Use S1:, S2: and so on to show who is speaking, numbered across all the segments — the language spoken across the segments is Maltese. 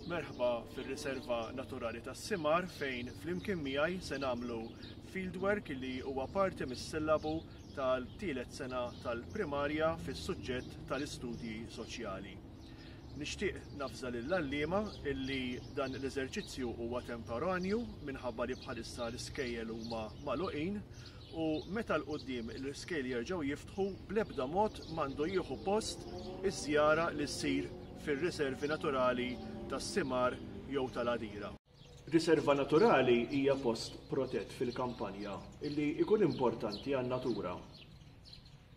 S1: Merħba fir-Riserva Naturali tas-Simar fejn flimkien miegħi se nagħmlu fieldwork li huwa parti mis-sillabu tal-tielet sena tal-primarja fis-suġġett tal-istudji soċjali. Nixtieq navża lill-għalliema illi dan l-eżerċizzju huwa temporanju minħabba li bħalissa l-iskejjel huma magħluqin u meta 'l quddiem l-iskejjel jerġgħu jiftħu bl-ebda mod m'għandu jieħu post iż-żjara li ssir fir-riservi naturali tas-Simar jew tal-Għadira. Riserva naturali hija post protett fil-kampanja illi jkun importanti għan-natura.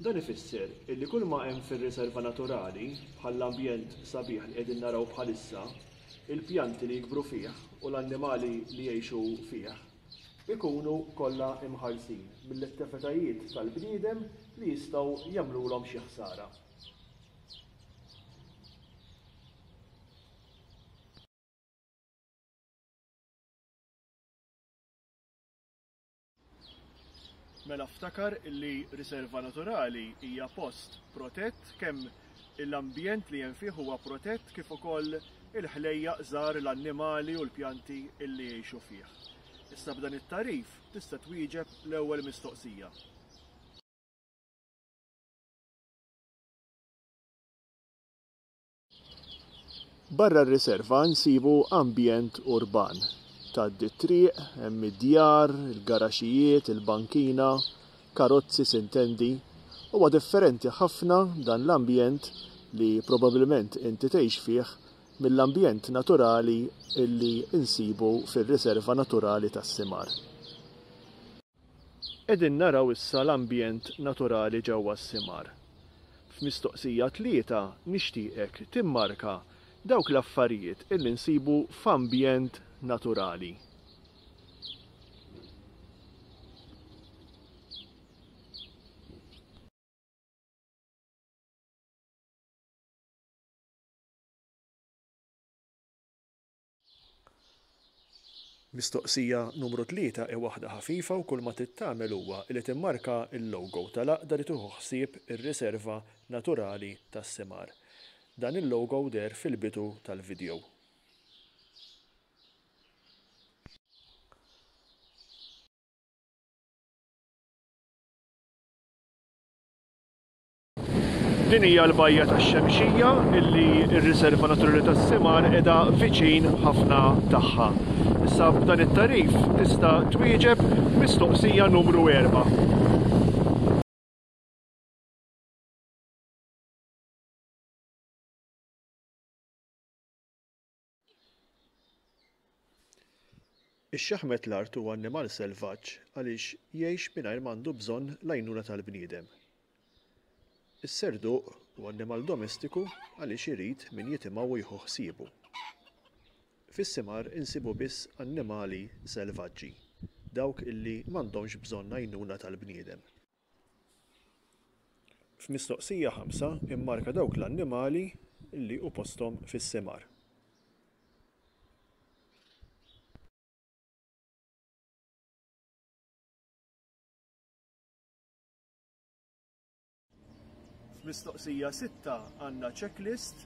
S1: Dan ifisser illi kull ma hemm fir-riserva naturali, bħall-ambjent sabiħ li qegħdin naraw bħalissa, il-pjanti li jikbru fih u l-annimali li jgħixu fih, ikunu kollha imħarsin mill-attivitajiet tal-bniedem li jistgħu jagħmlulhom xi ħsara. Mela ftakar li riserva naturali hija post protett kemm l-ambjent li hemm fih huwa protett kif ukoll il-ħlejjaq żgħar, l-annimali u l-pjanti li jgħixu fih. Issa b'dan it-tagħrif tista' twieġeb l-ewwel mistoqsija. Barra r-riserva nsibu ambjent urban. Tgħaddi t-triq, hemm id-djar, il-garaxijiet, il-bankina, karozzi sintendi. Huwa differenti ħafna dan l-ambjent li probabbilment inti tgħix fih mill-ambjent naturali li nsibu fir-riserva naturali tas-Simar. Qegħdin naraw issa l-ambjent naturali ġewwa s-Simar. F'mistoqsija tlieta nixtieqek timmarka dawk l-affarijiet illi nsibu f'ambjent naturali. Mistoqsija numru tlieta hi waħda ħafifa u kulma trid tagħmel huwa li timmarka l-logo tal-għaqda li tieħu ħsieb ir-riserva naturali tas-Simar. Dan il-logo deher fil-bidu tal-vidjow. Din hija l-bajja tax-Xemxija illi r-Riserva Naturali tas-Simar qiegħda viċin ħafna tagħha. Issa b'dan it-tagħrif tista' twieġeb mistoqsija numru 4. Ix-xaħmet l-art huwa annimal selvaġġ għaliex jgħix mingħajr m'għandu bżonn l-għajnuna tal-bniedem. Is-serduq huwa annimal domestiku għaliex irid min jitimgħu u jieħu ħsiebu. Fis-simar insibu biss annimali selvaġġi, dawk illi m'għandhomx bżonn għajnuna tal-bniedem. F'mistoqsija ħamsa immarka dawk l-annimali li hu posthom fis-simar. F'mistoqsija sitta għandna checklist,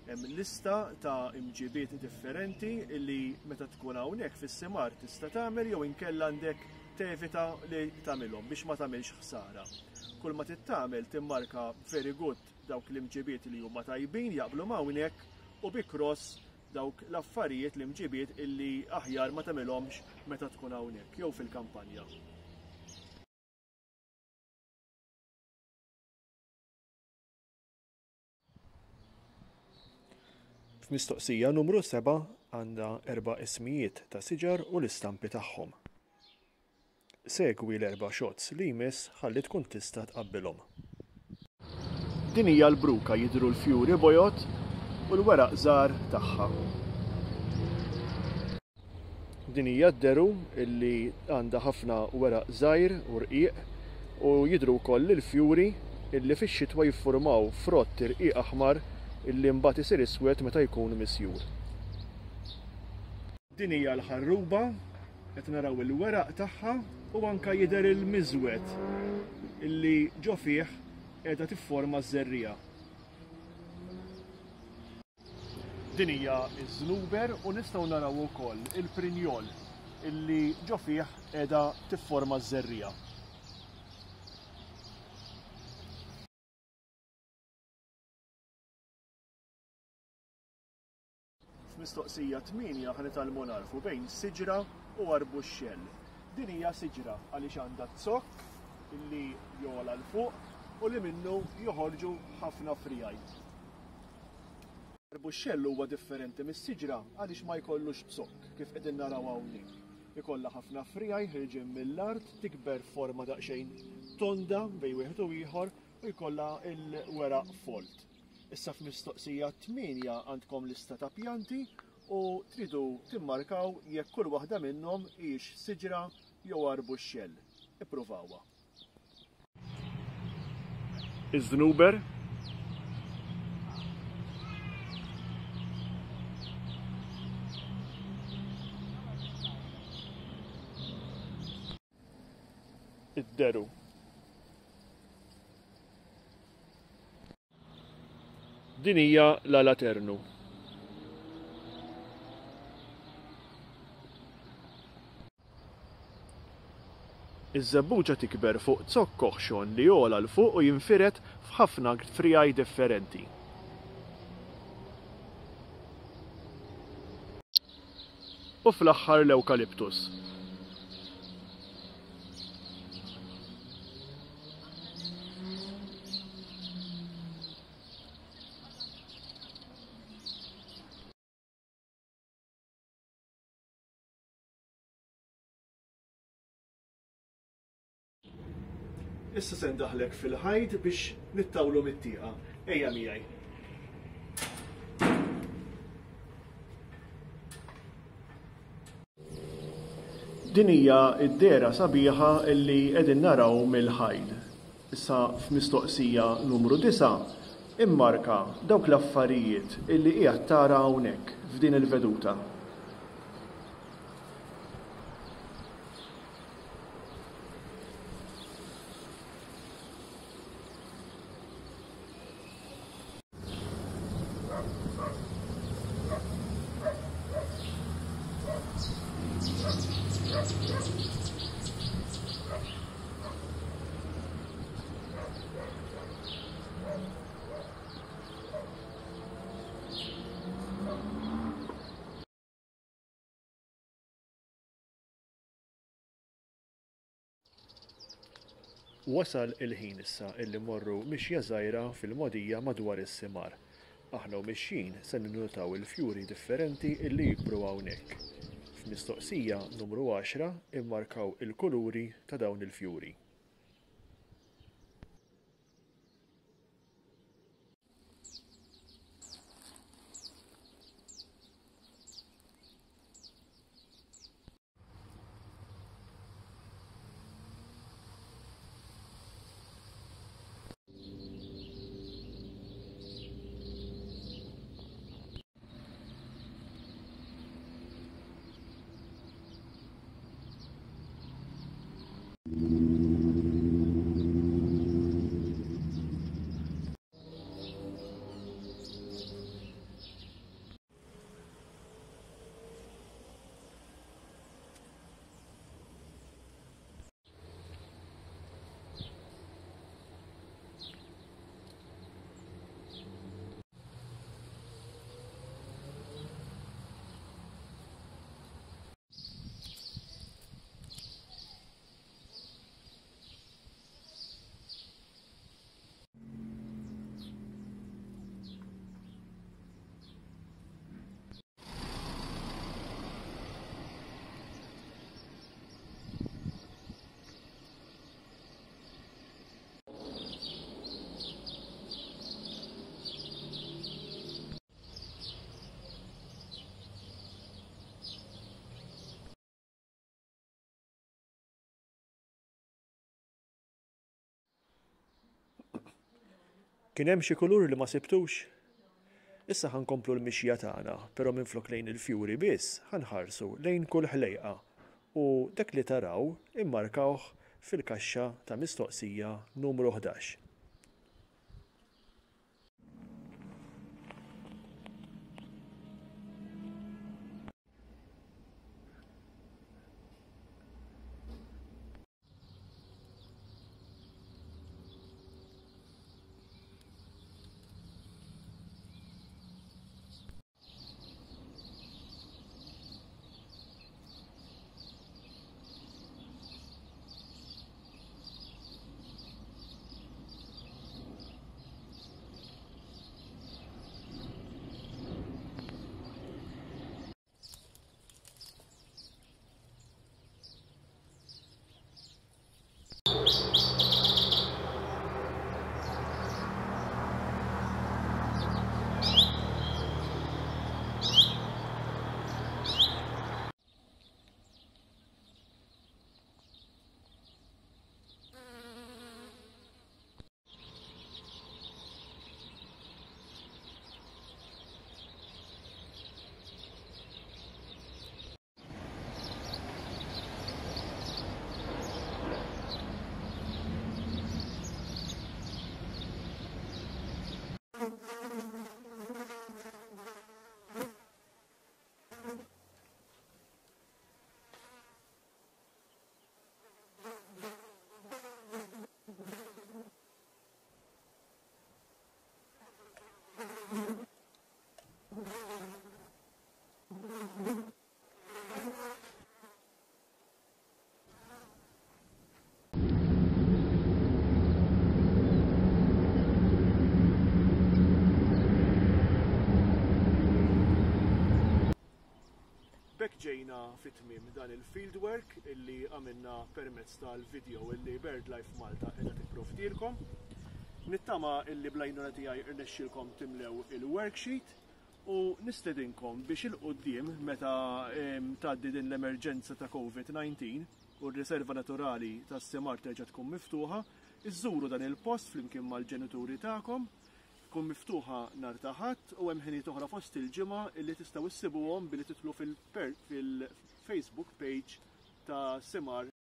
S1: hemm lista ta' imġibiet differenti li meta tkun hawnhekk fis-simar tista' tagħmel jew inkella għandek tevita li tagħmilhom biex ma tagħmilx ħsara. Kull ma trid tagħmel timmarka very good dawk l-imġibiet li huma tajbin jaqblu ma' hawnhekk u bi cross dawk l-affarijiet l-imġibiet illi aħjar ma tagħmilhomx meta tkun hawnhekk jew fil-kampanja. F'mistoqsija numru sebgħa għandha erba' ismijiet ta' siġar u l-istampi tagħhom. Segwi l-erba' shots li jmiss ħalli tkun tista' tqabbilhom. Din hija l-bruka jidhru l-fjuri bojod u l-weraq żgħar tagħha. Din hija d-deru li għandha ħafna weraq żgħir u rqiq u jidhru wkoll il-fjuri li fix-xitwa jiffurmaw frott irqiq aħmar li mbagħad isir iswed meta jkun misjur. Din hija l-ħarruba, qed naraw il-weraq tagħha u anke jidher il-miżwed li ġo fih qiegħda tifforma ż-żerriegħa. Din hija ż-żnuber u nistgħu naraw ukoll il-prinjol illi ġo fih qiegħda tifforma ż-żerriegħa. F'mistoqsija 8 ħa nitgħallmu nagħrfu bejn siġra u arbuxxell. Din hija siġra għaliex għandha zokk li jogħla 'l fuq u li minnu joħorġu ħafna friegħi. Arbuxxell huwa differenti mis-siġra għaliex ma jkollux zokk kif qegħdin naraw hawnhekk. Ikollha ħafna friegħi ħirġin mill-art, tikber f'forma daqsxejn tonda bejn wieħed u ieħor u jkollha l-weraq folt. Issa f'mistoqsija 8 għandkom lista ta' pjanti u tridu timmarkaw jekk kull waħda minnhom hijiex siġra jew arbuxxell. Ippruvawha. Iż-żnuber. Id-deru. Din hija l-alaternu. Iż-żebbuġa tikber fuq zokk oħxon li jogħla 'l fuq u jinfired f'ħafna friegħi differenti. U fl-aħħar l-ewkaliptus. Issa se ndaħlek fil-ħajt biex nittawlu mit-tieqa. Ejja miegħi. Din hija d-dehra sabiħa li qegħdin naraw mill-ħajt. Issa f'mistoqsija numru disgħa, immarka dawk l-affarijiet li qiegħed tara hawnhekk f'din il-veduta. Wasal il-ħin issa illi mmorru mixja żgħira fil-mogħdija madwar is-simar. Aħna u mixjin se ninnutaw il-fjuri differenti illi jikbru hawnhekk. F'mistoqsija numru għaxra immarkaw il-kuluri ta' dawn il-fjuri. Kien hemm xi kulur li ma sibtux? Issa ħa nkomplu l-mixja tagħna, però minflok lejn il-fjuri biss, ħa nħarsu lejn kull ħlejqa u dak li taraw immarkawh fil-kaxxa ta' mistoqsija numru 11. B'hekk ġejna fi tmiem dan il-fieldwork illi għamilna permezz tal-video illi BirdLife Malta qiegħda tipprovdilkom. Nittama illi bl-għajnuna tiegħi rnexxielkom timlew il-worksheet u nistedinkom biex 'il quddiem meta tgħaddi din l-emerġenza ta' COVID-19 u r-riserva naturali tas-Simar terġa' tkun miftuħa, iżżuru dan il-post flimkien mal-ġenituri tagħkom. Tkun miftuħa nhar ta' Ħadd u hemm ħinijiet oħra fost il-ġimgħa illi tistgħu issibuhom billi tidħlu fil-Facebook page ta' Simar.